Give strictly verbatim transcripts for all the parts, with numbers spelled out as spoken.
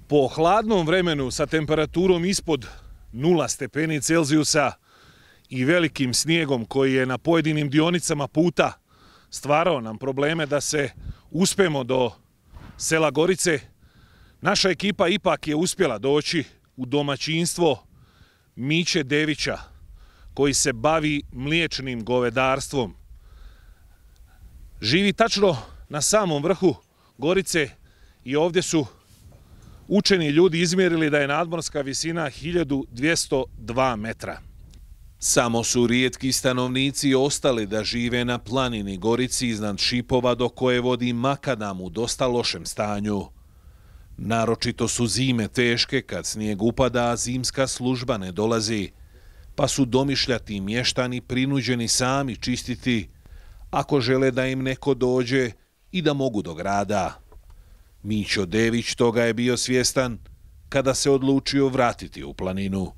Po hladnom vremenu sa temperaturom ispod nula stepeni Celzijusa i velikim snijegom koji je na pojedinim dionicama puta stvarao nam probleme da se uspemo do sela Gorice, naša ekipa ipak je uspjela doći u domaćinstvo Miće Devića, koji se bavi mliječnim govedarstvom. Živi tačno na samom vrhu Gorice i ovdje su učeni ljudi izmjerili da je nadmorska visina hiljadu dvjesto dva metra. Samo su rijetki stanovnici ostali da žive na planini Gorici iznad Šipova do koje vodi makadam u dosta lošem stanju. Naročito su zime teške kad snijeg upada, a zimska služba ne dolazi, pa su domišljati mještani prinuđeni sami čistiti ako žele da im neko dođe i da mogu do grada. Mićo Dević toga je bio svjestan kada se odlučio vratiti u planinu.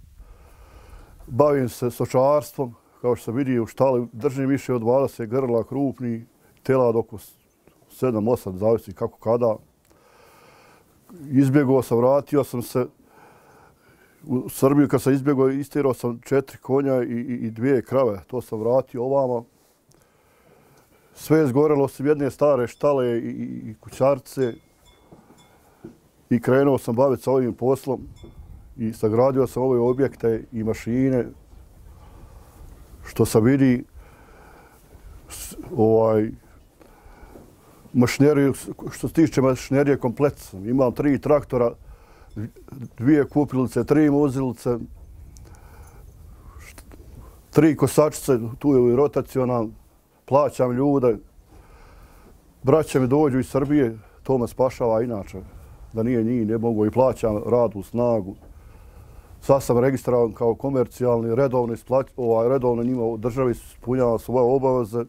Bavim se stočarstvom, kao što se vidi u štali, držim više od dvadeset grla krupni, telad oko sedam osam, zavisi kako kada. Izbjegao sam, vratio sam se u Srbiju, kad sam izbjegao, istirao sam četiri konja i, i, i dvije krave. To sam vratio ovamo. Sve je zgorelo osim jedne stare štale i, i, i kućarce. I krenuo sam baviti sa ovim poslom i sagradio sam ove objekte i mašine. Što se vidi, ovaj, mašineriju, što se tiče mašinerije komplet sam. Imam tri traktora, dvije kupilice, tri muzilice, tri kosačice, tu je i rotacional, plaćam ljude. Braća mi dođu iz Srbije, to me spašava inače. Da nije njih, ne mogu i plaćam rad u snagu. Sad sam registravan kao komercijalni, redovno, ovaj, redovno njima državi ispunjava svoje obaveze.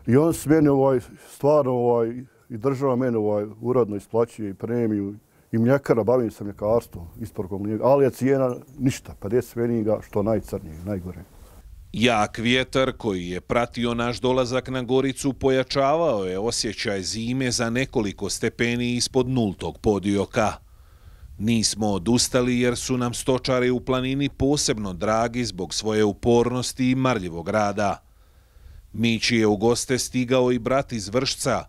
I on se meni ovaj, stvarno ovaj, i država meni ovaj, uredno isplaćuje i premiju i mljekara, bavim se mljekarstvom, isporukom mlijeka, ali je cijena ništa, pedeset pfeniga, što najcrnije, najgore. Jak vjetar koji je pratio naš dolazak na Goricu pojačavao je osjećaj zime za nekoliko stepeni ispod nultog podioka. Nismo odustali jer su nam stočari u planini posebno dragi zbog svoje upornosti i marljivog rada. Mići je u goste stigao i brat iz Vršca,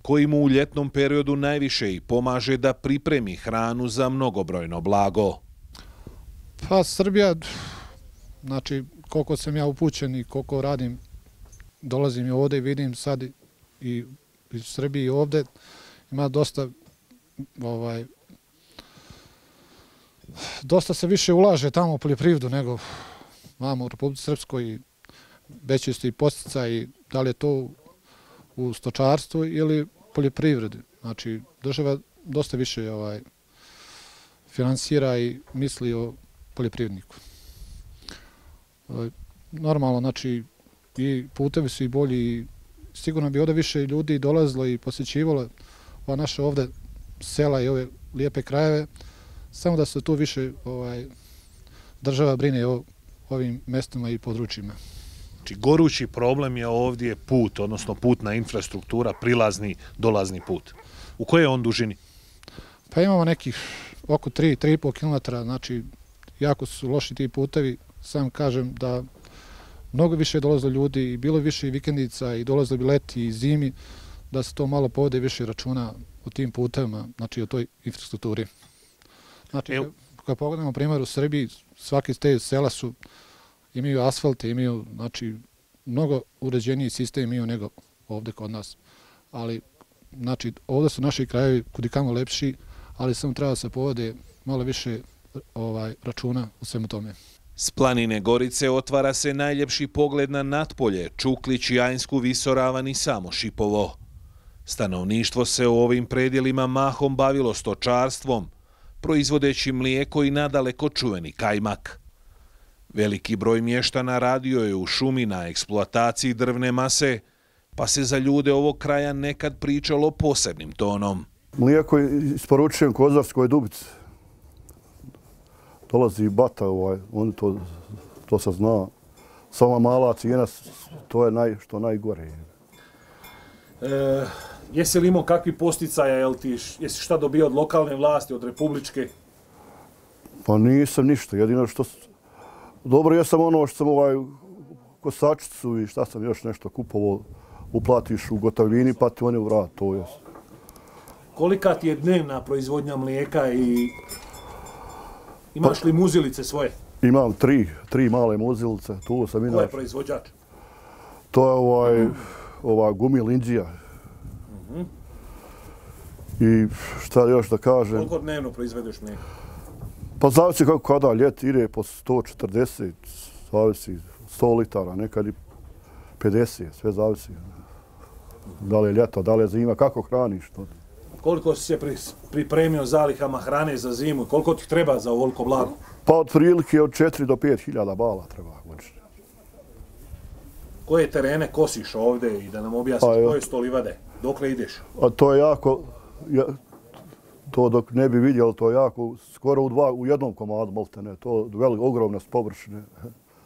koji mu u ljetnom periodu najviše i pomaže da pripremi hranu za mnogobrojno blago. Pa Srbija, znači koliko sam ja upućen i koliko radim, dolazim i ovdje i vidim sad i u Srbiji i ovdje, ima dosta, ovaj, dosta se više ulaže tamo u poljoprivredu nego vamo u Republici Srpskoj i veći su i podsticaj, da li je to u stočarstvu ili poljoprivredi. Znači, država dosta više ovaj, finansira i misli o poljoprivredniku. Normalno, znači, i putevi su i bolji i sigurno bi ovdje više ljudi dolazilo i posjećivalo ova naša ovdje sela i ove lijepe krajeve, samo da se tu više ovaj, država brine o ovim mjestima i područjima. Znači, gorući problem je ovdje put, odnosno putna infrastruktura, prilazni, dolazni put. U kojoj je on dužini? Pa imamo nekih oko tri do tri i po kilometra, znači jako su loši ti putevi. Sam kažem da mnogo više je dolazilo ljudi i bilo više i vikendica i dolazilo bi leti i zimi, da se to malo povede više računa o tim putevima, znači o toj infrastrukturi. Znači, kada pogledamo primjer u Srbiji, svaki te sela su imaju asfalte, imaju, znači, mnogo uređeniji sistem imaju nego ovdje kod nas. Ali, znači, ovdje su naši krajevi kudikamo lepši, ali samo treba se povode malo više ovaj, računa u svemu tome. S planine Gorice otvara se najljepši pogled na Natpolje, Čuklić, Jansku, Visoravan i samo Šipovo. Stanovništvo se u ovim predjelima mahom bavilo stočarstvom, proizvodeći mlijeko i nadaleko čuveni kajmak. Veliki broj mještana radio je u šumi na eksploataciji drvne mase, pa se za ljude ovog kraja nekad pričalo posebnim tonom. Mlijeko isporučujem Kozarskoj Dubici. Dolazi bata, ovaj, on to, to se zna. Sama mala cijena, to je naj, što najgore. E, Jesi li imao kakvi posticaja, jel ti, jesi šta dobio od lokalne vlasti, od republičke? Pa nisam ništa, jedino što... Dobro, jesam ono što sam ovaj kosačicu i šta sam još nešto kupovao, uplatiš u gotovini pa ti oni vrat, to je. Kolika ti je dnevna proizvodnja mlijeka i imaš li muzilice svoje? Imam tri, tri male muzilice, tu sam inače. Ko je proizvođač? To je ovaj, ova Gumil Indija. Uh-huh. I šta još da kažem? Koliko dnevno proizvedeš mlijeka? Pa zavisi kako kada, ljet ide po sto četrdeset, zavisi sto litara, nekad i pedeset, sve zavisi. Da li je ljeto, da li je zima, kako hraniš to. Koliko si se pripremio zalihama hrane za zimu? Koliko ti treba za ovoliko blago? Pa otprilike od četiri do pet hiljada bala treba godišnje. Koje terene kosiš ovdje i da nam objasniš pa, koje su to livade? Dokle ideš? A to je jako, ja, to dok ne bi vidjeli, to je jako, skoro u, dva, u jednom komadu, molte ne, to je velik, ogromna površine.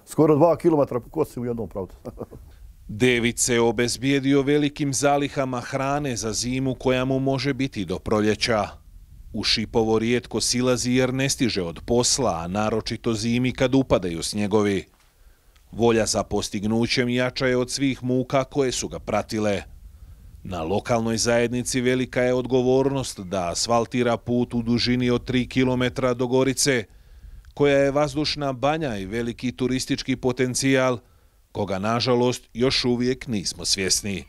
Skoro dva kilometra kosim u jednom pravcu. David se obezbijedio velikim zalihama hrane za zimu koja mu može biti do proljeća. U Šipovo rijetko silazi jer ne stiže od posla, a naročito zimi kad upadaju snjegovi. Volja za postignućem jača je od svih muka koje su ga pratile. Na lokalnoj zajednici velika je odgovornost da asfaltira put u dužini od tri kilometra do Gorice, koja je vazdušna banja i veliki turistički potencijal, koga, nažalost, još uvijek nismo svjesni.